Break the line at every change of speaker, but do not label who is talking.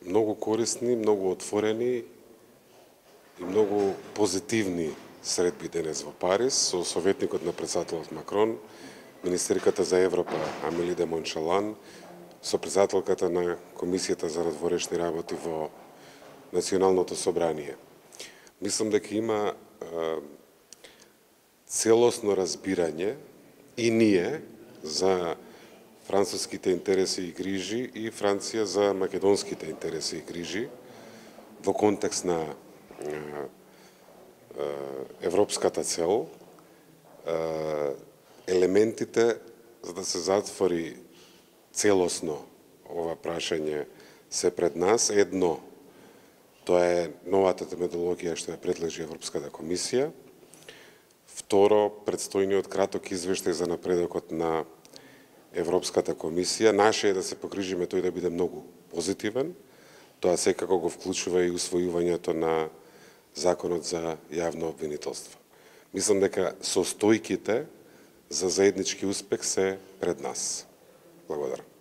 многу корисни, многу отворени и многу позитивни средби денес во Париз со советникот на претседателот Макрон, министерката за Европа Амели де Моншалан, со претседателката на Комисијата за надворешни работи во Националното собрание. Мислам дека има целосно разбирање и ние за француските интереси и грижи и Франција за македонските интереси и грижи во контекст на европската цел, елементите за да се затвори целосно ова прашање се пред нас. Едно, тоа е новата методологија што ја предложи Европската комисија. Второ, предстојниот краток извештај за напредокот на Европската комисија. Наше е да се погрижиме тој да биде многу позитивен. Тоа секако го вклучува и усвојувањето на Законот за јавно обвинителство. Мислам дека состојките за заеднички успех се пред нас. Благодарам.